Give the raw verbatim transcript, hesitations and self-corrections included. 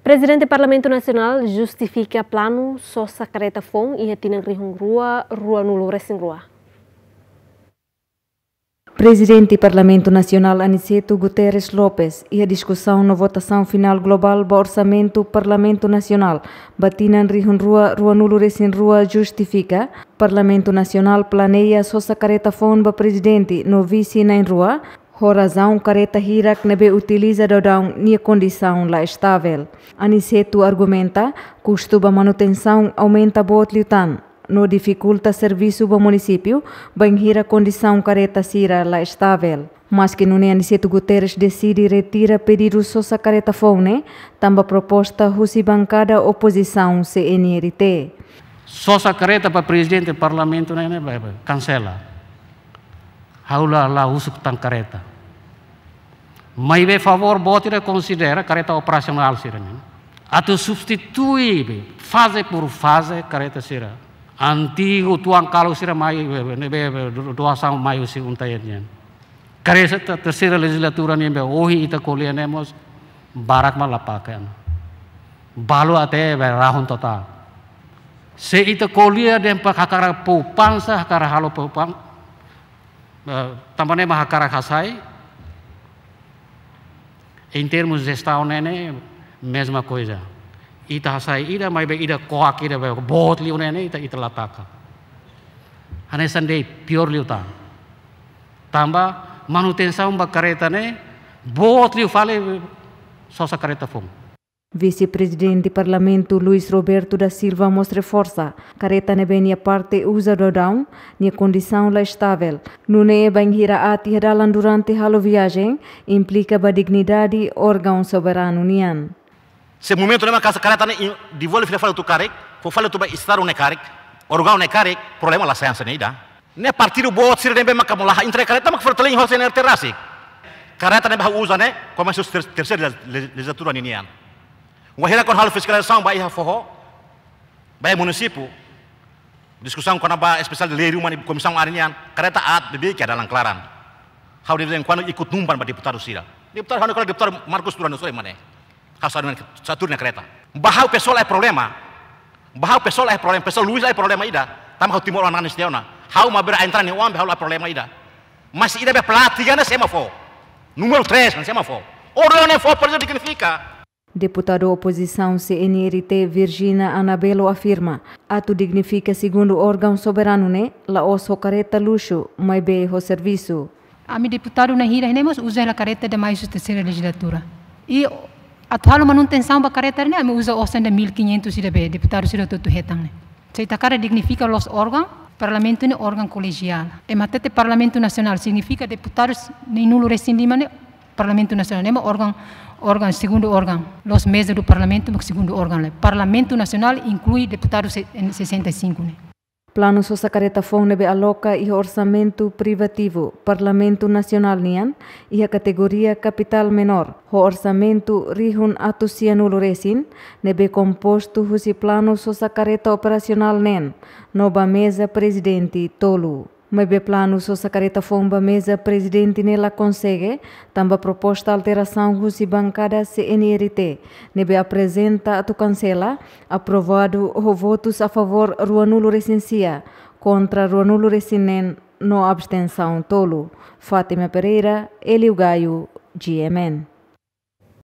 Prezidente Parlamentu Nasionál justifika planu sosa karreta foun iha tinan rihun rua ruanulu resin rua. Prezidente Parlamentu Nasionál Aniceto Guterres Lopes, iha diskusaun no votasaun finál globál ba orsamentu Parlamentu Nasionál ba tinan rihun rua ruanulu resin rua, justifika Parlamentu Nasionál planeia sosa karreta foun ba prezidente no vise na'in-rua, ho razaun karreta hirak ne'ebé utiliza daudaun nia kondisaun la estavel. Aniceto argumenta, kustu ba manutensaun aumenta boot liután, no difikulta servisu ba munisípiu, bainhira kondisaun karreta sira la estavel. Maski nune'e Aniceto Guterres deside retira pedidu sosa karreta foun ne'e, tanba proposta husi bankada opozisaun C N R T. Sosa karreta ba prezidente parlamentu ne'e, ne'e, be, be, kansela. Ha'u la, la husu tan karreta. Maibé favór boot ida konsidera karreta operasionál sira-ne'e. Atu substitui be, faze por faze karreta sira. Antigu tuan kalu sira mai, be, be, ne'ebé, be, do-, doasaun mai husi UNTAED nian. Karreta te-, terseira lejizlatura nian be ohin ita ko'alia ne'e mós barak mak la pake ona. Balu até be rahun totál. Se ita ko'alia dehan para hakarak poupansa, hakarak halo poupan-, eh, tanba ne'e mak hakarak hasai. Em termos de jestaun ne'e, ne'e mesma coisa. Ita hasai ida, maibé ida koak ida be boot liu ne'e, ne'e ita, ita la taka. Hanesan de'it, piór liután. Tanba manutensaun ba karreta ne'e, boot liu fali sosa karreta foun. Vise-Prezidente Parlamentu Luis Roberto da Silva mós reforsa, karreta ne'ebé nia parte uza daudaun, nia kondisaun la estavel. Nune'e bainhira aat iha dalan durante halo viajen, implika ba dignidade órgaun soberanu nian. Se momentu ne'e mak karreta ne'e in-, devolve fila fali atu karik, fó fali atu ba estadu ne'e karik, órgaun ne'e karik, problema la sai hanesan ne'e ida. Ne'e partidu boot sira ne'ebé maka mós la entrega karreta mak fó telen ho C N R T rasik. Karreta ne'ebé ha'u uza ne'e, komesa ter-, terseira le-, lejizlatura ninian. Wainhira kuandu halo fiskalizasaun ba iha foho, ba iha munisípiu, diskusaun kona-ba espesiál de lei ruma ne'e komisaun área nian, karreta aat beibeik iha dalan klaran. Ha'u de vez em quando ikut numpan ba deputadu sira. Deputadu ha'u ne'e kolega deputadu Marcos Turan Soe mane. Ha'u satu, satu na karreta. Ba ha'u pesoál la iha problema. Ba ha'u pesoál la iha problema. Pesoál Luis la iha problema ida. Tanba ha'u Timor-oan nanis tiha ona. Ha'u mak bele entra nia oan be ha'u la iha problema ida. Mas ida be pelatih ne'e sé mak fó. Númeru tres ne'e sé mak fó. Órgaun ne'e fó, por isso dignifika. Deputadu opozisaun C N R T Virgina Anabelo afirma, atu dignifika segundu órgaun soberanu ne'e, la'ós ho karreta luxu, maibé ho servisu. Ami deputadu na'in hira ne'e mós uza hela karreta ida mai husi terseira lejizlatura. I atu halo manutensaun ba karreta ne'e, ami uza osan ida mil e quinhentos ida be deputadu sira hotu-hotu hetan ne'e. Se ita hakarak dignifika loos órgaun, parlamentu ne'e órgaun kolegiál. Ema hatete Parlamentu Nasionál signifika deputadus na'in-nulu resin lima ne'e Parlamentu Nasionál, ne'e mak órgaun, órgaun, segundu órgaun. Loos meza do Parlamentu mak segundu órgaun, ne'e. Parlamentu Nasionál inklui deputadu se-, sessenta e cinco ne'e. Planu sosa karreta foun ne'ebé aloka iha orsamentu privativu Parlamentu Nasionál nian, iha kategoria kapitál menór, ho orsamentu rihun atus sianulu resin, ne'ebé kompostu husi planu sosa karreta operasionál neen, no ba meza prezidente tolu. Maibé planu sosa karreta foun ba meza prezidente ne'e la konsege, tanba proposta alterasaun husi bankada C N R T, ne'ebé aprezenta atu kansela, aprovadu ho votus a favór ruanulu resin sia, kontra ruanulu resin neen, no abstensaun tolu. Fátima Pereira, Hélio Gaio, G M N.